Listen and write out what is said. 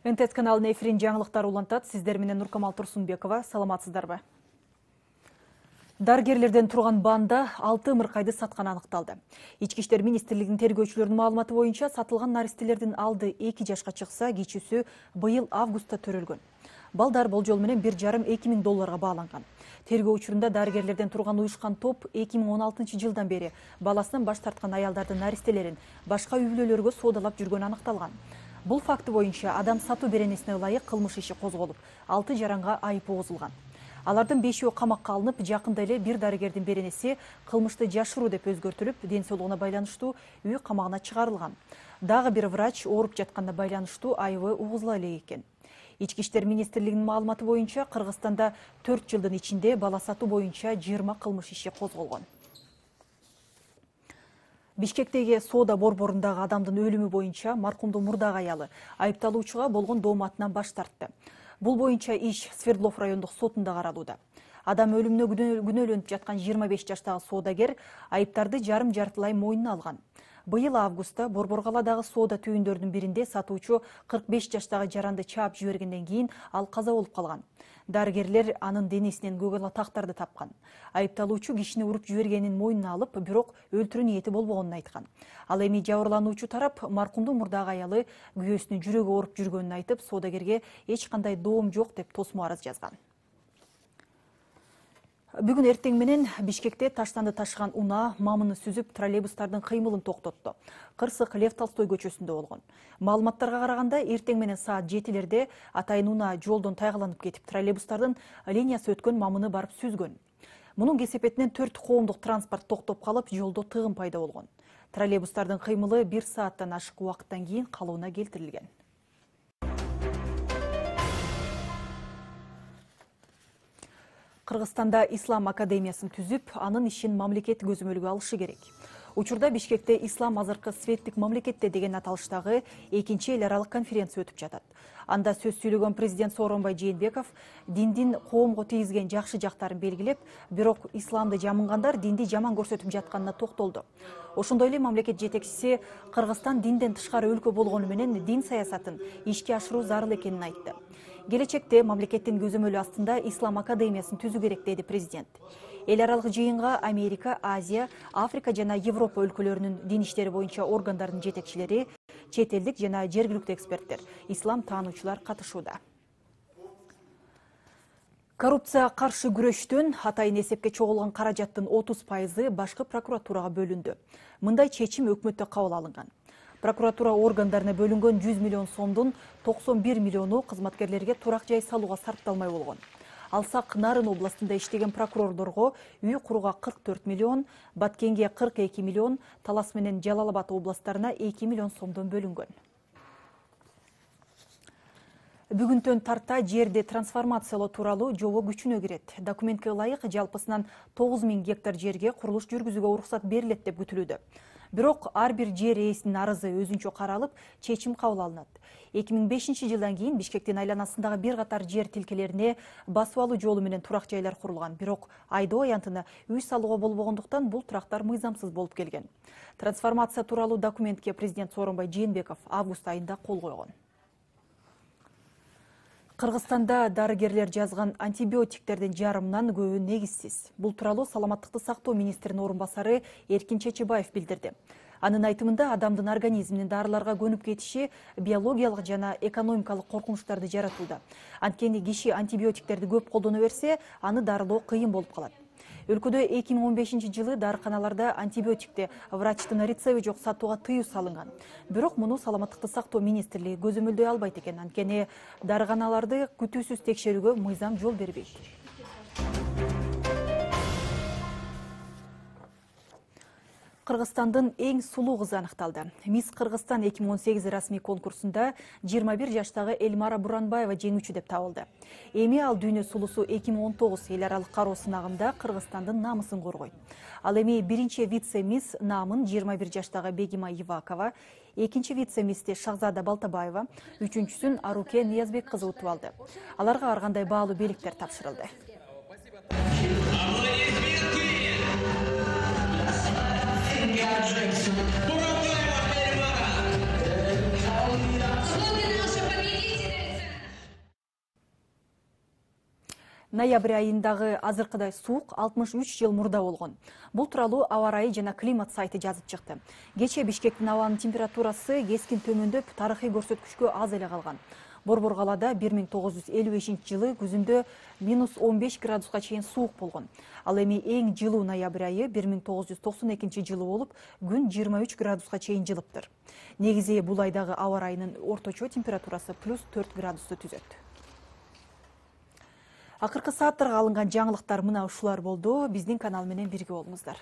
НТС каналынын эфирин жаңылыктар улантат. Сиздер менен Нуркамал Турсунбекова. Саламатсыздарбы? Дарыгерлерден турган банда 6 ымыркайды сатканы аныкталды. Ички иштер министрлигинин тергөөчүлөрүнүн маалыматы боюнча сатылган наристелердин алды 2 жашка чыкса, кичүүсү быйыл августта төрөлгөн. Балдар болжол менен 1,5–2 миң долларга бааланган. Тергөө учурунда дарыгерлерден турган уюшкан топ 2016 жылдан бери баласынан баш тарткан аялдардын наристелерин башка үй бүлөлөргө соодалап жүргөнү аныкталган. Бул факты боюнча адам сатуу беренесине ылайык кылмыш иши козголуп, 6 жаранга айып угузулган. Алардын 5өө камакка алынып, жакында эле бир дарыгердин беренеси кылмышты жашыруу деп өзгөртүлүп, ден соолугуна байланыштуу үй камагына чыгарылган. Дагы бир врач ооруп жатканда байланыштуу айыбы угузула элек экен. Ички иштер министрлигинин маалыматы боюнча Кыргызстанда 4 жылдын ичинде бала сатуу боюнча 20 кылмыш иши козголгон. Бишкектеги соода борборундагы адамдын өлүмү боюнча маркумдун мурдагы аялы айыпталуучуга болгон дооматынан баш тартты. Бул боюнча иш Свердлов райондук сотунда каралууда. Адам өлүмүнө күнөөлөнүп жаткан 25 жаштагы соодагер айыптарды жарым-жартылай мойнуна алган. Быйыл августта Борбор калаадагы соода түйүндөрүнүн биринде сатуучу 45 жаштагы жаранды чаап жибергенден кийин ал каза болуп калган. Дарыгерлер анын денесинен көк ала тактарды тапкан. Айыпталуучу кишини уруп жибергенин мойнуна алып, бирок өлтүрүү ниети болбогонун айткан. Ал эми жабырлануучу тарап маркумдун мурдагы аялы күйөөсүнүн жүрөгү ооруп жүргөнүн айтып, соодагерге эч кандай доом жок деп тосмо арыз жазган. Бүгүн эртең менен Бишкекте таштанды ташыган унаа мамыны сүзүп, троллейбустардын кыймылын токтотту. Кырсык Лев Толстой көчөсүндө болгон. Маалыматтарга караганда, эртең менен саат 7-лерде атайын унаа жолдон тайгаланып кетип, троллейбустардын линиясы өткөн мамыны барып сүзгөн. Мунун кесепетинен 4 коомдук транспорт токтоп калып, жолдо тыгын пайда болгон. Троллейбустардын кыймылы 1 сааттан ашык убакыттан кийин калыбына келтирилген. Кыргызстанда Ислам академиясын түзүп, анын ишин мамлекет көзөмөлгө алышы керек. Учурда Бишкекте Ислам азыркы светтик мамлекетте деген аталыштагы 2-чи эл аралык конференция өтүп жатат. Анда сөз сүйлөгөн президент Сооронбай Жээнбеков диндин коомго тийгизген жакшы жактарын белгилеп, бирок исламды жамынгандар динди жаман көрсөтүп жатканына токтолду. Ошондой эле мамлекет жетекчиси Кыргызстан динден тышкары өлкө болгону менен дин саясатын ишке ашыруу зарыл экенин айтты. Келечекте мамлекеттин көзөмөлү астында Ислам академиясын түзүү керек, деди президент. Эл аралык жыйынга Америка, Азия, Африка жана Европа өлкөлөрүнүн дин иштери боюнча органдардын жетекчилери, чет элдик жана жергиликтүү эксперттер, ислам таануучулар катышууда. Коррупция каршы күрөштөн атайын эсепке чогулган каражаттын 30% башкы прокуратурага бөлүндү. Мындай чечим өкмөттө кабыл алынган. Прокуратура органдарына бөлүнгөн 100 миллион сомдун 91 миллиону кызматкерлерге турак жай салууга сарпталмай болгон. Алсак Нарын областында иштеген прокурорлорго үй курууга 44 миллион, Баткенге 42 миллион, Талас менен Жалал Абад областарына 2 миллион сомдон бөлүнгөн. Бүгүнтөн тарта жерди трансформациялоо тууралуу жобо күчүнө кирет. Документке ылайык жалпысынан 9000 гектар жерге курулуш жүргүзүүгө уруксат берилет деп күтүлүүдө. Бирок ар бир жер ээсинин арызы өзүнчө каралып, чечим кабыл алынат. 2005 жылдан кийин Бишкектин айланасындагы бир катар жер тилкелерине басып алуу жолу менен турак жайлар курулган. Бирок айдоо аянтына үй салууга болбогондуктан бул турактар мыйзамсыз болуп келген. Трансформация тууралуу документке президент Сооронбай Жээнбеков август айында кол койгон. Кыргызстанда дарыгерлер жазган антибиотиктердин жарымынан көбү негизсиз. Бул тууралуу Саламаттыкты сактоо министринин орун басары Эркин Чечебаев билдирди. Анын айтымында адамдын организминин дарыларга көнүп кетиши биологиялык жана экономикалык коркунучтарды жаратууда. Анткени киши антибиотиктерди көп колдоно берсе, аны дарылоо кыйын болуп калат. Өлкөдө 2015 жылы дарыканаларда антибиотикти врачтын рецеби жок сатууга тыюу салынган. Бирок муну Саламаттыкты сактоо министрлиги көзөмөлдөй албайт экен, анткени дарыканаларды күтүүсүз текшерүүгө мыйзам жол бербейт. Кыргызстандын эң сулуу кызы аныкталды. Мисс Кыргызстан 2018 расмий конкурсунда 21 жаштагы Эльмара Буранбаева жеңүүчү деп табылды. Эми ал дүйнө сулусу 2019 эл аралык кароо сынагында Кыргызстандын намысын коргойт. Ал эми биринчи вице-мисс намын 21 жаштагы Бегима Ивакова, экинчи вице-миссти Шахзада Балтабаева, үчүнчүсүн Аруке Ниязбек кызы утуп алды. Аларга ар кандай баалуу беликтер тапшырылды. Ноябрь айындагы азыркыдай суук 63 жыл мурда болгон. Бул тууралуу аба ырайы жана климат сайты жазып чыкты. Кечээ Бишкектин абанын температурасы кескин төмөндөп, тарыхый көрсөткүчкө аз эле калган. Борбор калаада 1955 жылы күзүндө -15 градуска чейин суук болгон. Ал эми эң жылуу ноябрь айы 1992 жылы болуп, күн 23 градуска чейин жылыптыр. Негизи бул айдагы аба ырайынын орточо температурасы +4 градусту түзөт. Акыркы сааттарга алынган жаңылыктар мына ушулар болду. Биздин канал менен бирге болуңуздар.